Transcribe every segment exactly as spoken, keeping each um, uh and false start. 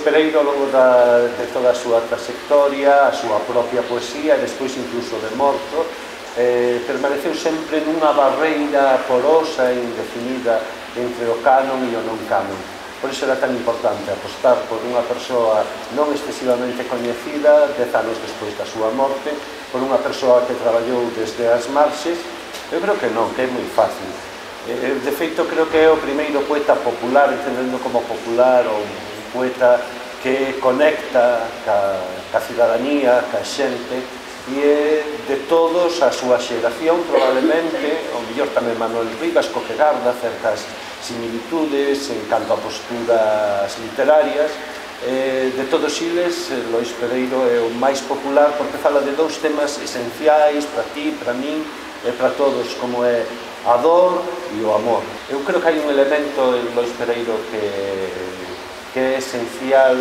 Pereiro, ao longo da, de toda a súa trayectoria, a súa propia poesía e despois incluso de morto, eh, permaneceu sempre nunha barreira porosa e indefinida entre o canon e o non canon. Por iso era tan importante apostar por unha persoa non excesivamente coñecida dez anos despois da súa morte, por unha persoa que traballou desde as marxes. Eu creo que non, que é moi fácil. De feito, creo que é o primeiro poeta popular, entendendo como popular, ou un poeta que conecta ca, ca cidadanía, ca xente, e é de todos a súa xeración, probablemente, o mellor tamén Manuel Rivas, co que garda certas similitudes en canto a posturas literarias. Eh, de todos eles, Lois Pereiro é o máis popular porque fala de dous temas esenciais para ti, para min e para todos, como é a dor e o amor. Eu creo que hai un elemento en Lois Pereiro que, que é esencial,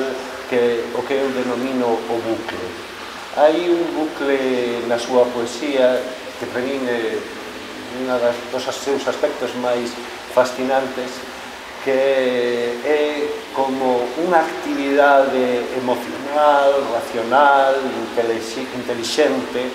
que o que eu denomino o bucle. Hai un bucle na súa poesía que para min é un dos seus aspectos máis fascinantes, que é como unha actividade emocional, racional, intelixente,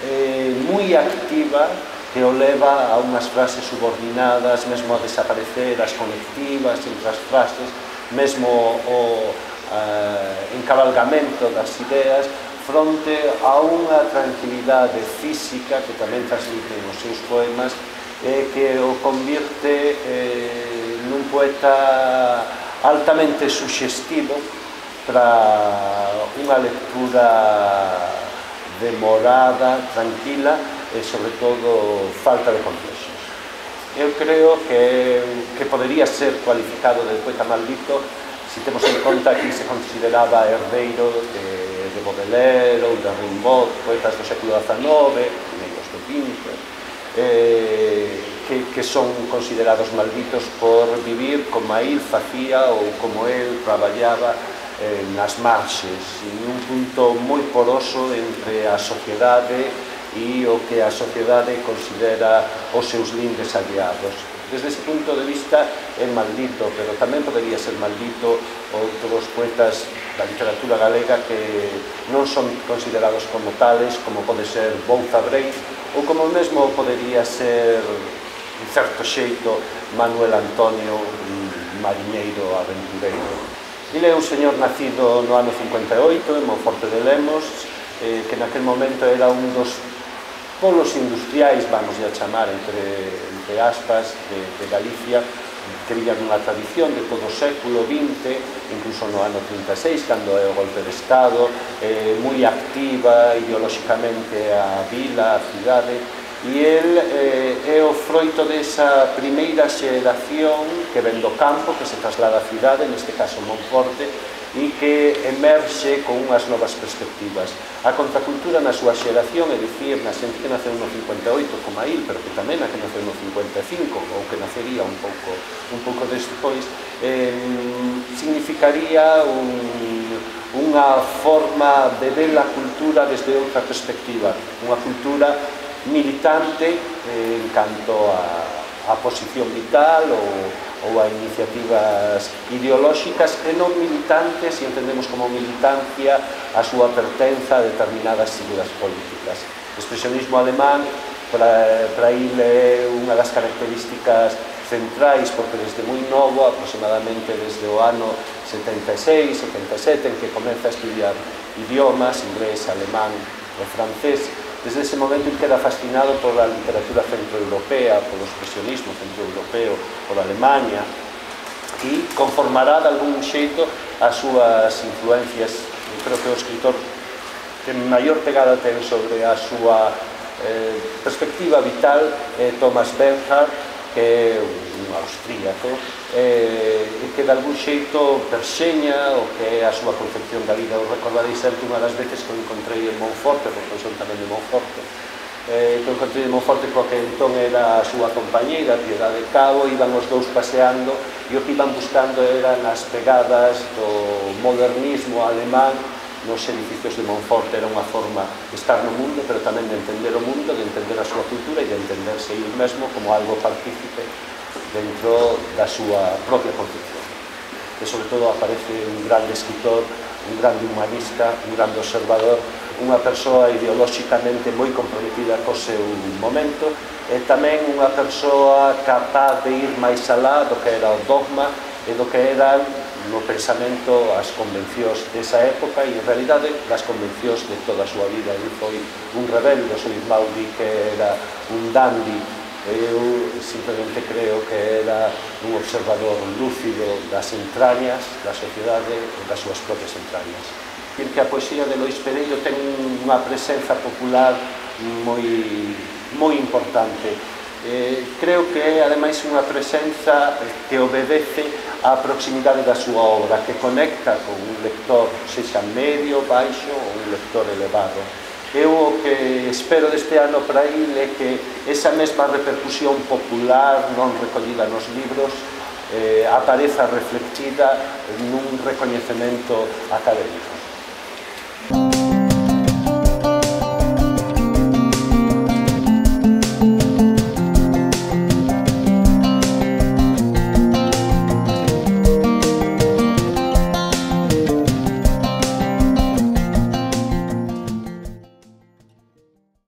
eh, moi activa, que o leva a unhas frases subordinadas, mesmo a desaparecer as conectivas entre as frases, mesmo o eh, encabalgamento das ideas, fronte a unha tranquilidade física que tamén transmiten os seus poemas, eh, que o convirte eh, nun poeta altamente suxestivo para unha lectura demorada, tranquila e, sobre todo, falta de complexos. Eu creo que, que podería ser cualificado de poeta maldito se temos en conta que se consideraba herdeiro de de Baudelaire ou de Rimbaud, poetas do século dezanove, primeiros do vinte, eh, que, que son considerados malditos por vivir como il facía ou como el traballaba eh, nas marxes, en un punto moi poroso entre a sociedade e o que a sociedade considera os seus lindes aliados. Desde ese punto de vista é maldito, pero tamén podería ser maldito outros poetas da literatura galega que non son considerados como tales, como pode ser Bouza Brei, ou como mesmo podería ser, en certo xeito, Manuel Antonio, un mariñeiro aventureiro. Ele é un señor nacido no ano cincuenta e oito, en Monforte de Lemos, eh, que naquel momento era un dos polos industriais, vamos a chamar, entre, entre aspas, de, de Galicia, que viña dunha tradición de todo o século vinte, incluso no ano trinta e seis, cando é o golpe de Estado, eh, moi activa ideolóxicamente a vila, a cidade, e el eh, é o froito desa primeira xeración que ven do campo, que se traslada á cidade, neste caso Monforte, e que emerxe con unhas novas perspectivas. A contracultura na súa xeración, é dicir, na xente que naceu no cincuenta e oito como a il, pero que tamén a que naceu no cincuenta e cinco, ou que nacería un pouco, un pouco despois, eh, significaría un, unha forma de ver a cultura desde outra perspectiva, unha cultura militante eh, en canto a, a posición vital ou ou a iniciativas ideolóxicas e non militantes, e entendemos como militancia a súa pertenza a determinadas siglas políticas. O expresionismo alemán para, para il é unha das características centrais, porque desde moi novo, aproximadamente desde o ano setenta e seis, setenta e sete, en que comeza a estudiar idiomas, inglés, alemán e francés, desde ese momento ele queda fascinado pola literatura centroeuropea, polo expresionismo centroeuropeo, pola Alemanha, e conformará de algún xeito as súas influencias. Eu creo que o escritor que maior pegada ten sobre a súa eh, perspectiva vital é Thomas Bernhard, que é un austríaco, e que de algún xeito perseña o que é a súa concepción da vida. Eu recordarei sempre unha das veces que o encontrei en Monforte, porque son tamén de Monforte, que o encontrei en Monforte coa que entón era a súa compañeira, Piedade Cabo, iban os dous paseando, e o que iban buscando eran as pegadas do modernismo alemán nos edificios de Monforte. Era unha forma de estar no mundo, pero tamén de entender o mundo, de entender a súa cultura e de entenderse ele mesmo como algo partícipe dentro da súa propia concepción. e sobre todo aparece un grande escritor, un grande humanista, un grande observador, unha persoa ideolóxicamente moi comprometida co seu momento e tamén unha persoa capaz de ir máis alá do que era o dogma e do que eran no pensamento as convencións desa época e en realidade das convencións de toda a súa vida. Ele foi un rebelde, o seu irmão di que era un dandy, eu simplemente creo que era un observador lúcido das entrañas da sociedade e das súas propias entrañas. Dicir que a poesía de Lois Pereiro ten unha presenza popular moi, moi importante. Eh, creo que é, ademais, unha presenza que obedece á proximidade da súa obra, que conecta con un lector, sexa medio, baixo ou un lector elevado. Eu o que espero deste ano para il é que esa mesma repercusión popular non recollida nos libros eh, apareza reflectida nun recoñecemento académico.